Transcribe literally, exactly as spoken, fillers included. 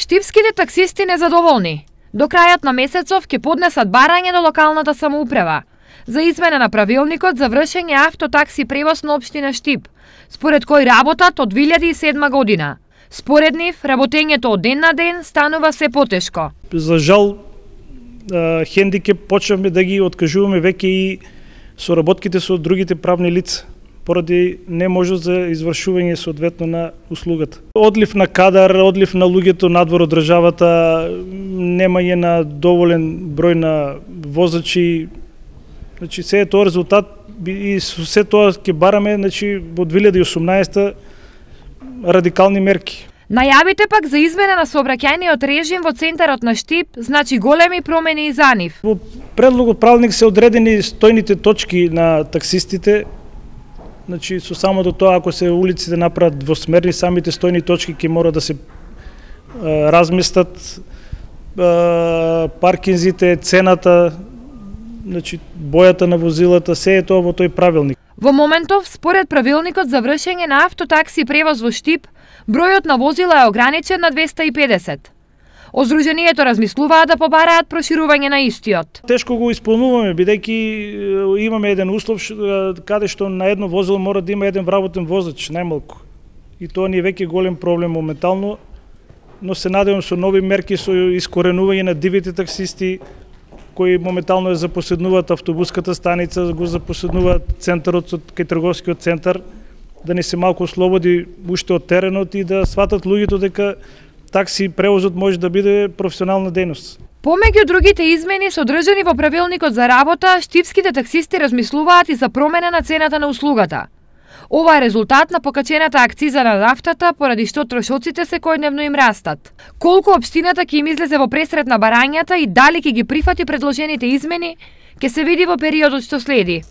Штипските таксисти незадоволни. До крајот на месецов ќе поднесат барање до локалната самоуправа за измена на правилникот за вршење автотакси превоз на општина Штип, според кој работат од две илјади и седма година. Според нив, работењето од ден на ден станува се потешко. За жал, хендикеп почнавме да ги откажуваме веќе и соработките со другите правни лица, поради неможност за извршување соодветно на услугата. Одлив на кадар, одлив на луѓето надвор од државата, немање на доволен број на возачи. Значи, се е тоа резултат и со се тоа ќе бараме, значи, во две илјади и осумнаесета радикални мерки. Најавите пак за измена на сообраќајниот режим во центарот на Штип значи големи промени и за нив. Во предлогот правилник се одредени стојните точки на таксистите. Значи, со само до тоа, ако се улиците направат двосмерни, самите стојни точки ќе мора да се а, разместат, а, паркинзите, цената, значи, бојата на возилата, се е тоа во тој правилник. Во моментов, според правилникот за вршење на автотакси превоз во Штип, бројот на возила е ограничен на двеста и педесет. Оздруженијето размислуваат да побараат проширување на истиот. Тешко го исполнуваме, бидејќи имаме еден услов каде што на едно возило мора да има еден вработен возач, најмалку. И тоа ни е веќе голем проблем моментално, но се надевам со нови мерки, со искоренување на дивите таксисти, кои моментално ја запоседнуваат автобуската станица, го запоседнуваат центарот кај трговскиот центар, да не се малку ослободи уште од теренот и да сватат луѓето дека такси превозот може да биде професионална дејност. Помеѓу другите измени содржани во правилникот за работа, штипските таксисти размислуваат и за промена на цената на услугата. Ова е резултат на покачената акциза на нафтата, поради што трошоците секојдневно им растат. Колку општината ќе им излезе во пресрет на барањата и дали ќе ги прифати предложените измени, ќе се види во периодот што следи.